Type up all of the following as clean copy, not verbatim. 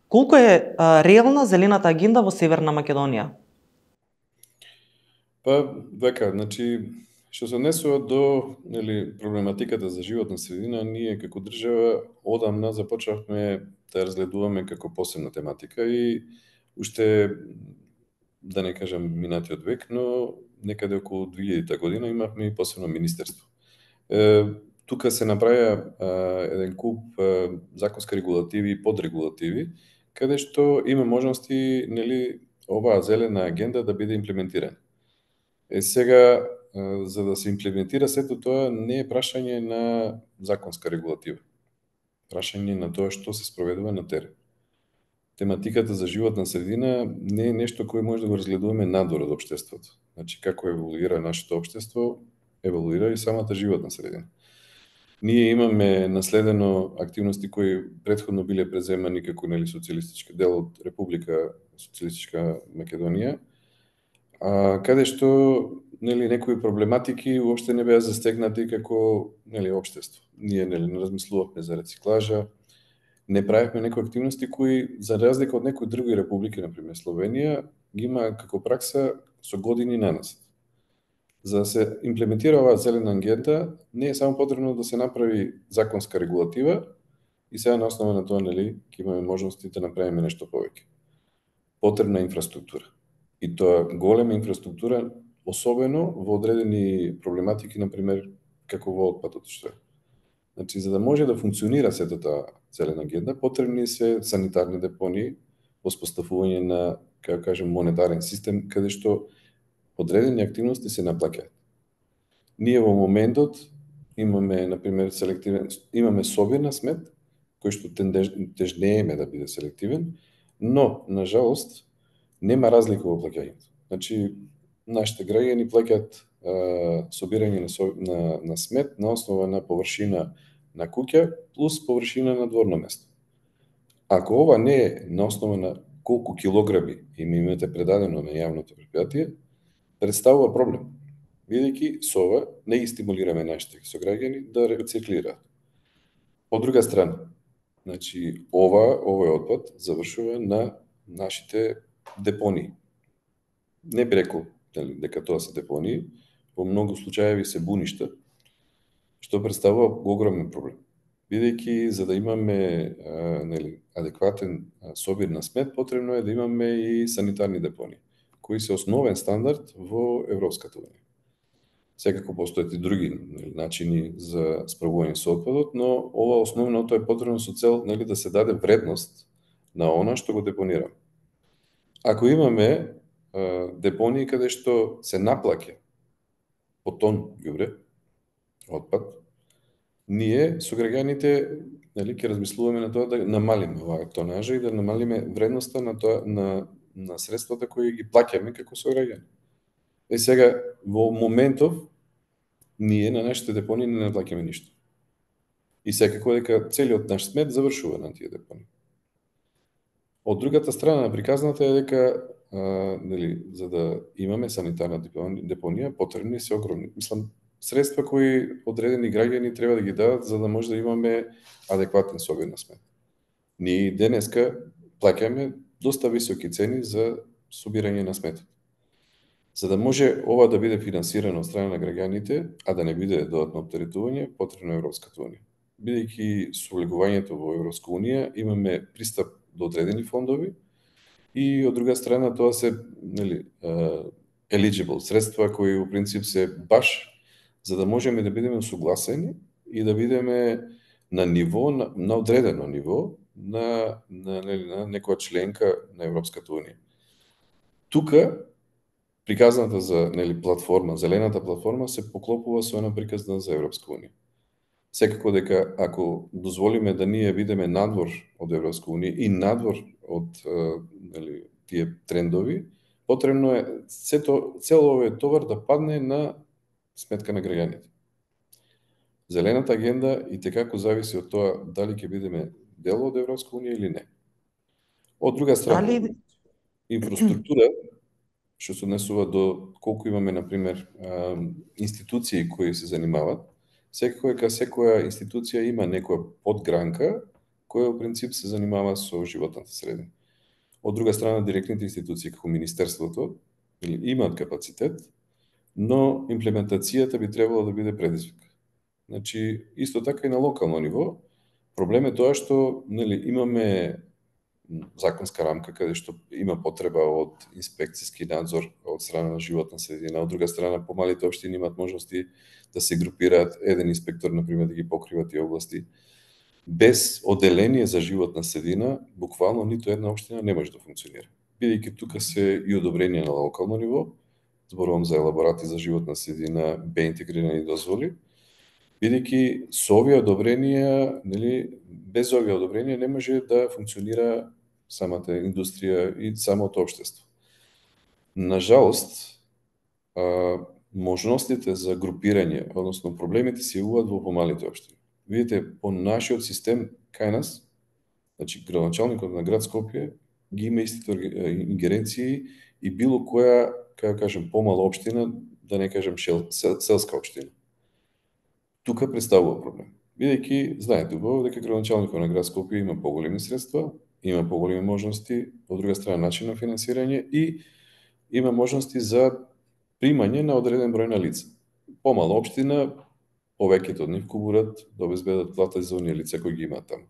Колку е реална зелената агенда во Северна Македонија? Па, века, значи, што се однесува до проблематиката за животна средина, ние како држава одамна започнавме да разгледуваме како посебна тематика и уште, да не кажам минатиот век, но некаде околу 2000 година имавме и посебно министерство. Тука се направија еден куп законски регулативи и подрегулативи, каде што има можности, оваа зелена агенда да биде имплементирана. Сега, за да се имплементира сето тоа, не е прашање на законска регулатива. Прашање на тоа што се спроведува на терен. Тематиката за животна средина не е нешто кое може да го разгледуваме надвор од општеството. Значи, како еволуира нашето општество, еволуира и самата животна средина. Ние имаме наследено активности кои претходно биле преземани како социјалистички дел од Република Социјалистичка Македонија, каде што некои проблематики уопште не беа застегнати како општество. Ние не размислувавме за рециклажа, не правевме некои активности кои, за разлика од некои други републики, например Словенија, ги има како пракса со години наназад. За да се имплементира оваа зелена агенда, не е само потребно да се направи законска регулатива и сега на основа на тоа ќе имаме можности да направиме нешто повеќе. Потребна инфраструктура. И тоа голема инфраструктура, особено во одредени проблематики, например, како во отпадот, што е. Значи, за да може да функционира сето таа зелена агенда, потребни се санитарни депонии, воспоставување на, како кажем, монетарен систем, каде што одредени активности се наплаќаат. Ние во моментот имаме, например, имаме собир на смет, кој што тежнееме да биде селективен, но, на жалост, нема разлика во плаќањето. Значи, нашите граѓани плаќаат собирање на смет на основа на површина на куќа плюс површина на дворно место. Ако ова не е на основа на колку килограми им имате предадено на јавното предпријатие, представува проблем, бидејќи со ова не ги стимулираме нашите сограѓани да рециклираат. Од друга страна, значи овој отпад завршува на нашите депонии. Не би рекол дека тоа се депонии, во многу случаеви се буништа, што представува огромен проблем. Бидејќи за да имаме адекватен собир на смет, потребно е да имаме и санитарни депонии, кои се основен стандард во Европската унија. Секако постојат и други начини за справување со отпадот, но ова основното е потребно со цел да се даде вредност на она што го депонираме. Ако имаме депонии каде што се наплаќа по тон ѓубре, отпад, ние со граѓаните ќе размислуваме на тоа да намалиме оваа тонажа и да намалиме вредноста на тоа на средствата кои ги плаќаме како сограѓани. Сега во моментов ние на нашите депонии не наплаќаме ништо. И секако дека целиот наш смет завршува на тие депонии. Од другата страна на приказната е дека за да имаме санитарна депонија, потребни се огромни. Средства кои одредени граѓани треба да ги дадат за да може да имаме адекватен собир на смет. Ние денеска плаќаме доста високи цени за собирање на сметот. За да може ова да биде финансирано од страна на граѓаните, а да не биде додатно оптеретување, потребно е Европската унија. Бидејќи со влегувањето во Европска унија имаме пристап до одредени фондови и од друга страна тоа се eligible средства кои во принцип се баш за да можеме да бидеме согласени и да бидеме на ниво, на одредено ниво на некоја членка на Европската унија. Тука приказната за платформа, зелената платформа се поклопува со една приказна за Европска унија. Секако дека ако дозволиме да ние бидеме надвор од Европска унија и надвор од тие трендови, потребно е цел овој товар да падне на сметка на граѓаните. Зелената агенда и текако зависи од тоа дали ќе бидеме дел од Европска унија или не. Од друга страна, инфраструктура, што се однесува до колку имаме, например, институции кои се занимават, секако дека секоја институција има некоја подгранка која во принцип се занимава со животната средина. Од друга страна, директните институции како Министерството имаат капацитет, но имплементацијата би требало да биде предизвик. Значи, исто така и на локално ниво, проблем е тоа што имаме законска рамка каде што има потреба од инспекциски надзор од страна на животна средина, од друга страна помалите општини имаат можности да се групираат еден инспектор например да ги покрива тие области. Без оделение за животна средина, буквално ниту една општина не може да функционира. Бидејќи тука се и одобрение на локално ниво, зборувам за елаборати за животна средина, интегрирани дозволи, бидејќи со овие одобренија, без овие одобренија не може да функционира самата индустрија и самото општество. На жалост, можностите за групирање, односно проблемите се јавуваат во помалите општини. Видите, по нашиот систем кај нас, значи градоначалникот на град Скопје ги има истите ингеренции и било која, како кажем, помала општина, да не кажем селска општина. Тука представува проблем. Бидејќи знаете убаво дека градоначалникот на град Скопје има поголеми средства, има поголеми можности, од друга страна начин на финансирање и има можности за примање на одреден број на лица. Помала општина, повеќето од нив кубурат да обезбедат плата за оние лица кои ги имаат таму.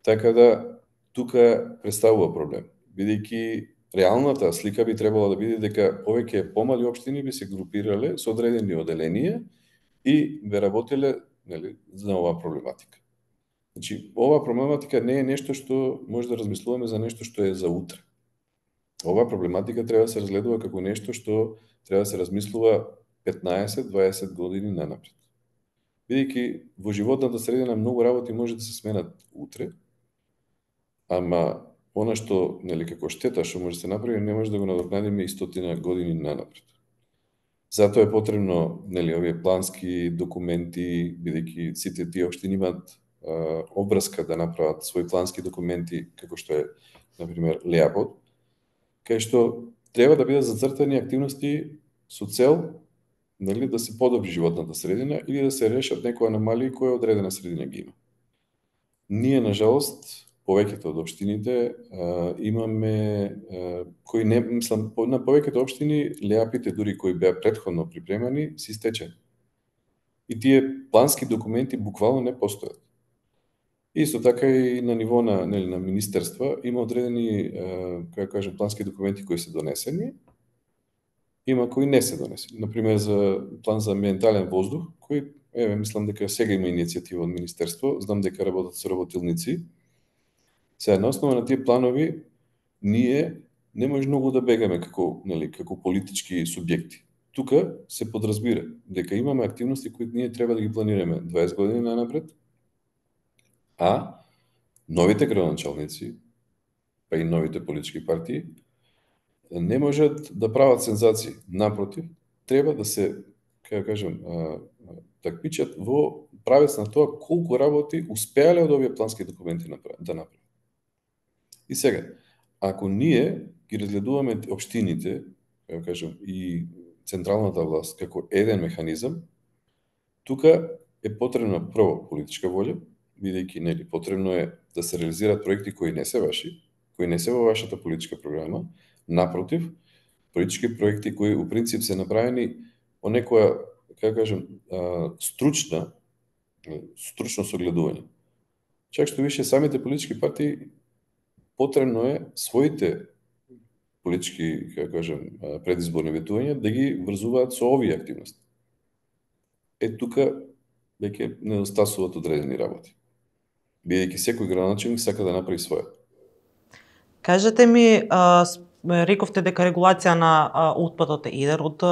Така да тука представува проблем, бидејќи реалната слика би требала да биде дека повеќе помали општини би се групирале со одредени оделенија и би работеле за оваа проблематика. Значи, оваа проблематика не е нешто што може да размислуваме за нешто што е за утре. Оваа проблематика треба да се разгледува како нешто што треба да се размислува 15-20 години нанапред. Бидејќи во животната средина многу работи може да се сменат утре, ама она што како штета што може да се направи не може да го надокнадиме и 100 години нанапред. Затоа е потребно овие плански документи, бидејќи сите тие општини имаат обврска да направат своји плански документи, како што е, например, Леапод, кај што треба да бидат зацртани активности со цел да се подобри животната средина или да се решат некои аномалии кои одредена средина ги има. Ние, на жалост, повеќето од општините имаме кои не, мислам, на повеќето општини леапите дури кои беа претходно припремани се истечени. И тие плански документи буквално не постојат. Исто така и на ниво на министерства има одредени, како кажем, плански документи кои се донесени, има кои не се донесени. Например, за план за амбиентален воздух, кој, мислам дека сега има иницијатива од министерство, знам дека работат со работилници. Сега, на основа на тие планови, ние не може многу да бегаме како политички субјекти. Тука се подразбира дека имаме активности кои ние треба да ги планираме 20 години нанапред, а новите градоначалници, па и новите политички партии, не можат да прават сензации. Напротив, треба да се, како кажем, такмичат во правец на тоа колку работи успеале од овие плански документи да направат. И сега, ако ние ги разгледуваме општините, како кажем, и централната власт како еден механизам, тука е потребна прво политичка волја, бидејќи потребно е да се реализираат проекти кои не се ваши, кои не се во вашата политичка програма. Напротив, политички проекти кои у принцип се направени по некоја, како кажем, стручно согледување. Чак што више самите политички партии потребно е своите политички, како кажем, предизборни ветувања да ги врзуваат со овие активности. Тука веќе недостасуваат одредени работи. Бидејќи секој градоначалник сака да направи своја. Кажете ми, рековте дека регулација на отпадот е еден од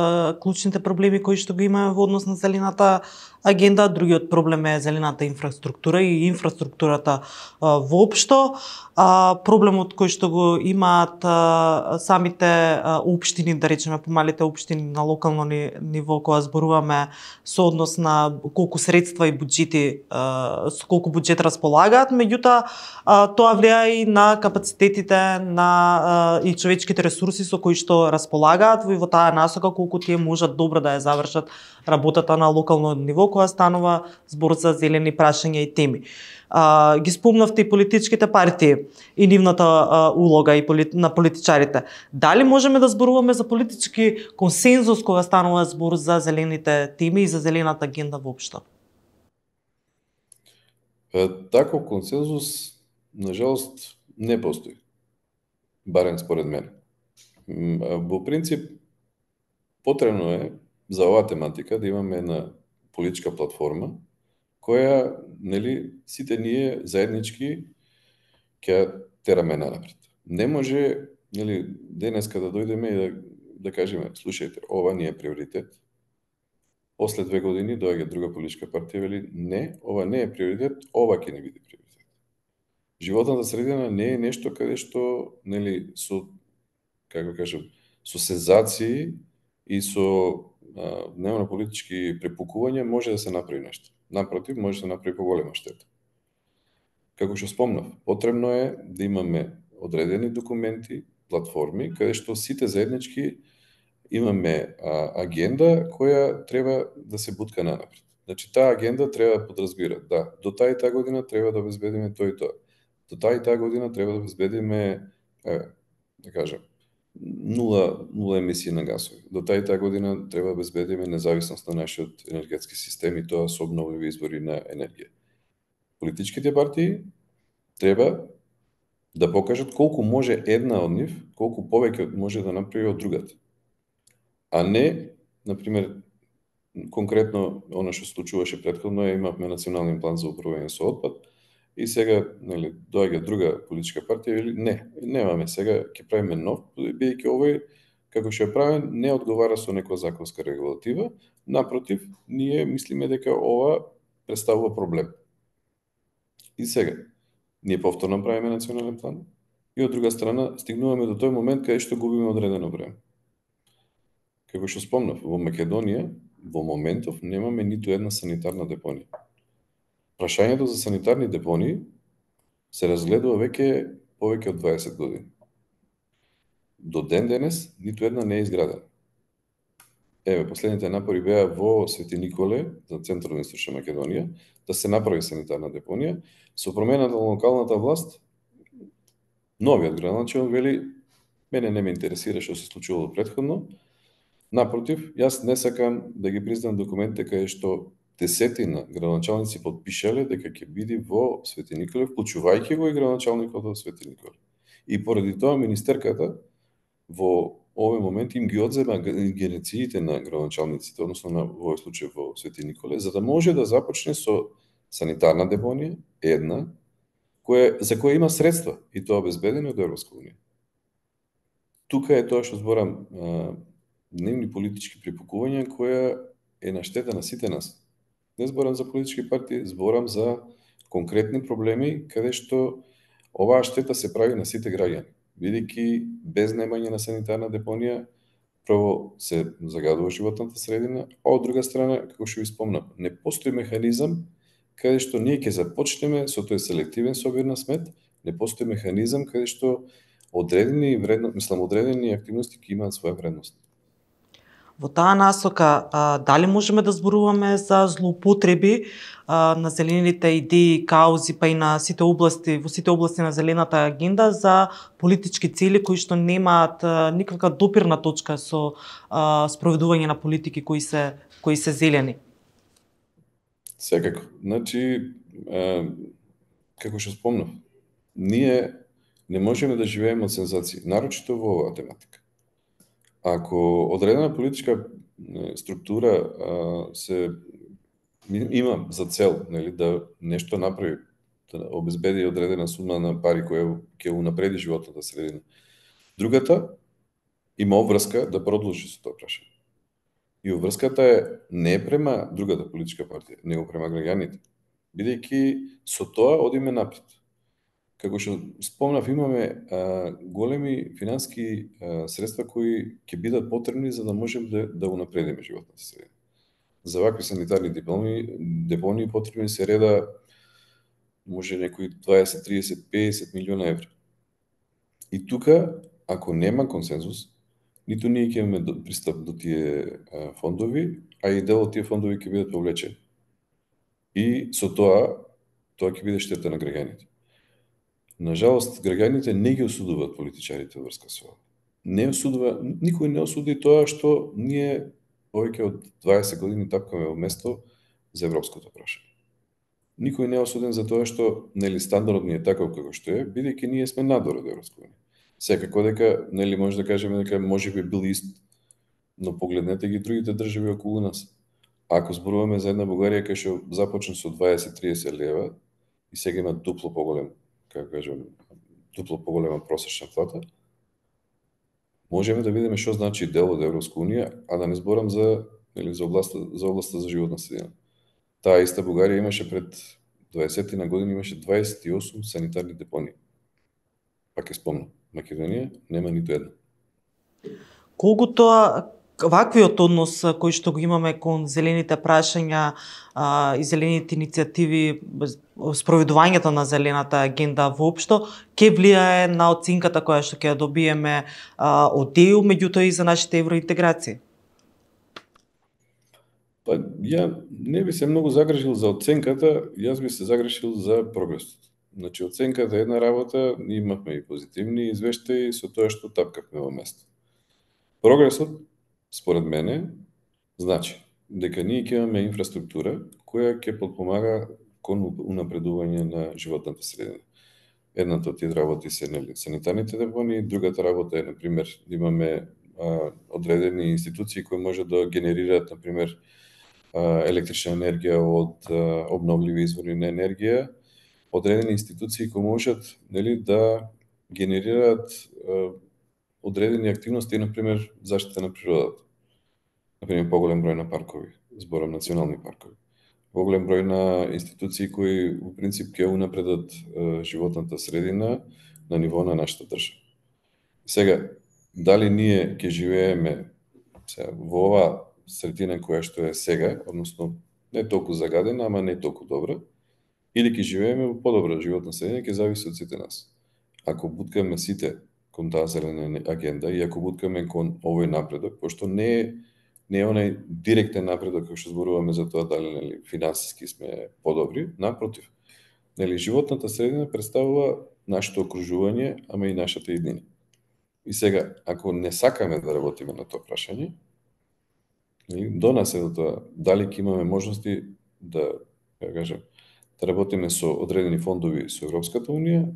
клучните проблеми кои што ги имаме во однос на зелената агенда, другиот проблем е зелената инфраструктура и инфраструктурата воопшто. Проблемот кој што го имаат самите општини, да речеме помалите општини на локално ниво, кога зборуваме со однос на колку средства и буџети, со колку буџет располагаат, меѓутоа тоа влијае и на капацитетите на и човечките ресурси со кои што располагаат во таа насока, колку тие можат добро да ја завршат работата на локално ниво, кога станува збор за зелени прашања и теми. Ги спомнавте и политичките партии и нивната улога и на политичарите. Дали можеме да зборуваме за политички консензус кога станува збор за зелените теми и за зелената агенда воопшто? Таков консензус, нажалост, не постои. Барем според мене. Во принцип, потребно е за оваа тематика да имаме една политичка платформа која, нели, сите ние заеднички ќе тераме напред. Не може, нели, денеска да дојдеме и да кажеме, слушајте, ова не е приоритет. После 2 години доаѓа друга политичка партија и вели, не, ова не е приоритет, ова ќе не биде приоритет. Животната средина не е нешто каде што, нели, со, како кажам, со сензации и со дневно политички препукувања може да се направи нешто. Напротив, може да се направи поголема штета. Како што спомнав, потребно е да имаме одредени документи, платформи, каде што сите заеднички имаме агенда која треба да се бутка нанапред. Значи, таа агенда треба да подразбира, да, до таа и таа година треба да обезбедиме тој и тоа. До таа и таа година треба да обезбедиме, да кажам, нула емисии на гасови. До таа и таа година треба да обезбедиме независност на нашиот енергетски систем и тоа со обновливи извори на енергија. Политичките партии треба да покажат колку може една од нив, колку повеќе може да направи од другата. А не, например, конкретно она што случуваше претходно, имавме национален план за управување со отпад и сега, нели, доаѓа друга политичка партија или не, немаме сега, ќе правиме нов, бидејќи овој како што е правен не одговара со некоја законска регулатива, напротив, ние мислиме дека ова представува проблем. И сега, ние повторно правиме национален план и од друга страна стигнуваме до тој момент каде што губиме одредено време. Како што спомнав, во Македонија во моментов немаме ниту една санитарна депонија. Прашањето за санитарни депонии се разгледува веќе повеќе од 20 години. До ден денес ниту една не е изградена. Еве, последните напори беа во Свети Николе, за централна и источна Македонија, да се направи санитарна депонија. Со промената на локалната власт, новиот градоначелник вели, мене не ме интересира што се случувало претходно. Напротив, јас не сакам да ги признам документите каде што десетина градоначалници подпишале дека ќе биде во Свети Николе, вклучувајќи го и градоначалникот во Свети Николе. И поради тоа министерката во овој момент им ги одзема генециите на градоначалниците, односно на во овој случај во Свети Николе, за да може да започне со санитарна депонија, една, за која има средства и тоа обезбедено од Европска унија. Тука е тоа што зборам, дневни политички препукувања која е на штета на сите нас. Не зборам за политички партии, зборам за конкретни проблеми каде што оваа штета се прави на сите граѓани. Бидејќи без немање на санитарна депонија, прво се загадува животната средина, а од друга страна, како што ви спомнав, не постои механизам каде што ние ќе започнеме со тој селективен собир на смет, не постои механизам каде што одредени активности ќе имаат своја вредност. Во таа насока, дали можеме да зборуваме за злоупотреби на зелените идеи, каузи, па и на сите области, во сите области на зелената агенда за политички цели кои што немаат никаква допирна точка со спроведување на политики кои се зелени? Секако. Значи, како што спомнав, ние не можеме да живееме од сензации, нарочито во оваа тематика. Ако одредена политичка структура има за цел, нели, да нешто направи, да обезбеди одредена сума на пари која ќе унапреди животната средина, другата има обврска да продолжи со тоа прашање. И обврската не е према другата политичка партија, него према граѓаните, бидејќи со тоа одиме напред. Како што спомнав, имаме големи финански средства кои ќе бидат потребни за да можем да унапредиме животната средина. За вакви санитарни депонии потребни се реда може некои 20, 30, 50 милиона евра. И тука, ако нема консензус, ниту ние ќе имаме пристап до тие фондови, а и дел од тие фондови ќе бидат повлечени. и со тоа ќе биде штета на граѓаните. Нажалост, граѓаните не ги осудуваат политичарите врска со ова. Не осудува, никој не осуди тоа што ние повеќе од 20 години тапкаме во место за европското прашање. Никој не е осуден за тоа што нели стандардот ни е таков како што е, бидејќи ние сме надвор од Европска унија. Секако дека нели може да кажеме дека можеби бил ист, но погледнете ги другите држави околу нас. Ако зборуваме за една Бугарија кај што започна со 20-30 лева и сега има дупло поголем, како кажам, дупло поголема просечна плата, можеме да видиме што значи дел од Европска унија, а да не зборам за нели за областа за животна средина. Таа иста Бугарија имаше пред 20 на години имаше 28 санитарни депонии. Пак ќе спомнам, Македонија нема ниту една. Колку тоа ваквиот однос кој што го имаме кон зелените прашања и зелените иницијативи, спроведувањето на зелената агенда воопшто, ќе влијае на оценката која што ќе добиеме од ЕУ, меѓутоа и за нашите евроинтеграции? Па, ја не би се многу загрижил за оценката, јас би се загрижил за прогресот. Значи, оценката е една работа, ние имавме и позитивни извештаи со тоа што тапкавме во место. Прогресот, според мене, значи дека ние ќе имаме инфраструктура која ќе подпомага кон унапредување на животната средина. Едната од тие работи се нели санитарните депонии, другата работа е на пример да имаме одредени институции кои може да генерираат на пример електрична енергија од обновливи извори на енергија, одредени институции кои можат нели да генерираат одредени активности, на пример заштита на природата. На пример поголем број на паркови, зборам национални паркови. Поголем број на институции кои во принцип ќе унапредат животната средина на ниво на нашата држава. Сега, дали ние ќе живееме во оваа средина која што е сега, односно не толку загадена, ама не толку добра, или ќе живееме во подобра животна средина, ќе зависи од сите нас. Ако буткаме сите кон таа зелена агенда и ако буткаме кон овој напредок, пошто не е онај директен напредок кој што зборуваме за тоа дали нели финансиски сме подобри, напротив. Нели животната средина представува нашето окружување, ама и нашата иднина. И сега, ако не сакаме да работиме на тоа прашање, до нас е до тоа дали ќе имаме можности да кажам, да работиме со одредени фондови со Европската унија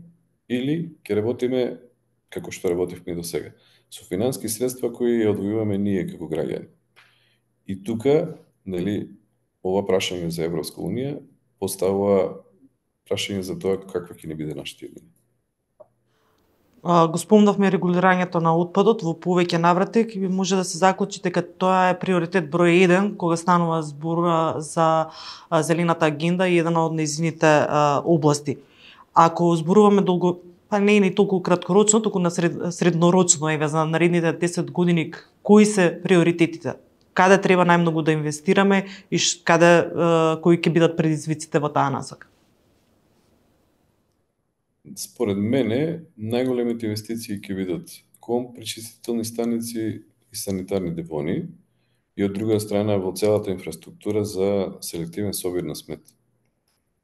или ќе работиме како што работивме до сега, со финански средства кои ја одвојуваме ние како граѓани. И тука, нели, ова прашање за Европска унија поставува прашање за тоа каква ќе ни биде нашата иднина. Го спомнавме регулирањето на отпадот во повеќе наврати, ќе може да се заклучи дека тоа е приоритет број 1 кога станува збор за зелената агенда и една од нејзините области. Ако зборуваме па не е ни толку краткорочно, туку на среднорочно, еве за наредните 10 години, кои се приоритетите? Каде треба најмногу да инвестираме и кои ќе бидат предизвиците во таа насока? Според мене, најголемите инвестиции ќе бидат кон пречистителни станици и санитарни депонии и од друга страна во целата инфраструктура за селективен собир на смет.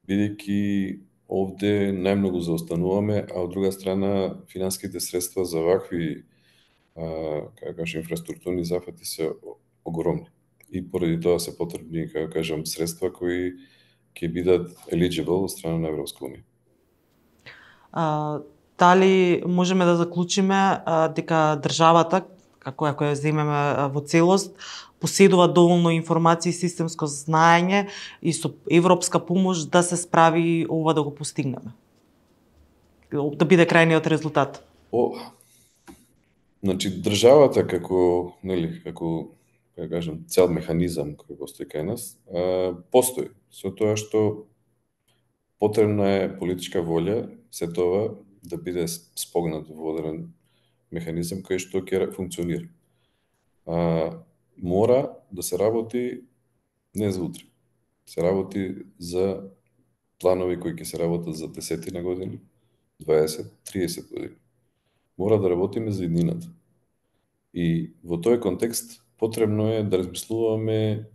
Бидејќи овде најмногу заостануваме, а од друга страна финанските средства за вакви инфраструктурни зафати се огромни. И поради тоа се потребни, средства кои ќе бидат eligible од страна на Европска унија. Дали можеме да заклучиме дека државата, како ја земеме во целост, поседува доволно информации и системско знаење и со европска помош да се справи ова да го постигнеме? Да биде крајниот резултат? Значи, државата како цел механизам кој постои кај нас, постои. Со тоа што потребна е политичка волја, се тоа да биде спогнат во одреден механизам кој што ќе функционира. Мора да се работи не за утре. Се работи за планови кои ќе се работат за 10 на години, 20, 30 години. Мора да работиме за иднината. И во тој контекст потребно е да размислуваме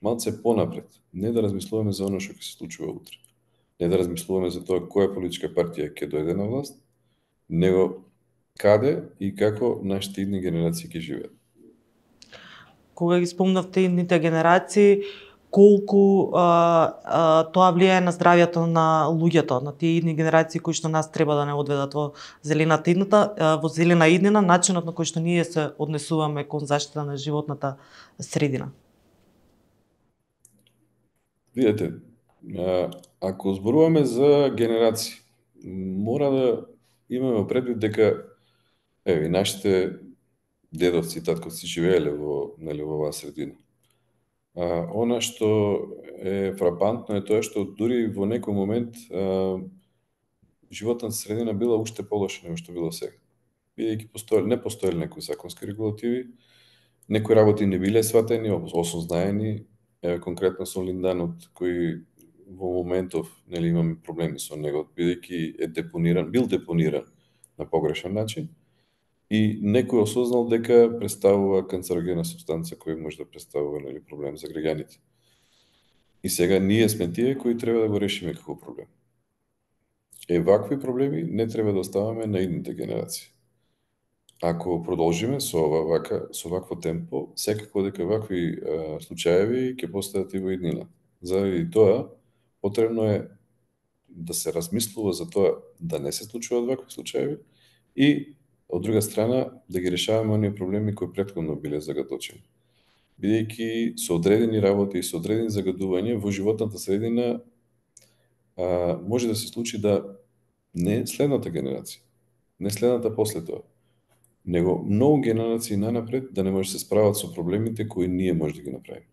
малце понапред, не да размислуваме за оно што ќе се случува утре. Не да размислуваме за тоа која политичка партија ќе дојде на власт, него каде и како нашите идни генерации ќе живеат. Кога ги спомнавте идните генерации, колку тоа влијае на здравјето на луѓето, на тие идни генерации кои што нас треба да не одведат во зелената идната, во зелена иднина, начинот на кој што ние се однесуваме кон заштита на животната средина. Видете, ако зборуваме за генерации, мора да имаме предвид дека и нашите дедовци и татковци живееле во оваа средина. Она што е фрапантно е тоа што дури во некој момент животната средина била уште полоша него што било сега. Бидејќи не постоеле некои законски регулативи, некои работи не биле сватени, осознаени, конкретно со линданот кој во моментов имаме проблеми со него, бидејќи бил депониран на погрешен начин и некој осознал дека представува канцерогена супстанца која може да представува проблем за граѓаните. И сега ние сме тие кои треба да го решиме како проблем. Вакви проблеми не треба да оставаме на идните генерации. Ако продолжиме со вакво темпо, секако дека вакви случаеви ќе постојат и во иднина. Заради тоа, потребно е да се размислува за тоа да не се случуваат вакви случаеви и, од друга страна, да ги решаваме оние проблеми кои претходно биле загаточени. Бидејќи со одредени работи и со одредени загадувања во животната средина може да се случи да не следната генерација, не следната после тоа, него многу генерации нанапред да не може да се справат со проблемите кои ние може да ги направиме.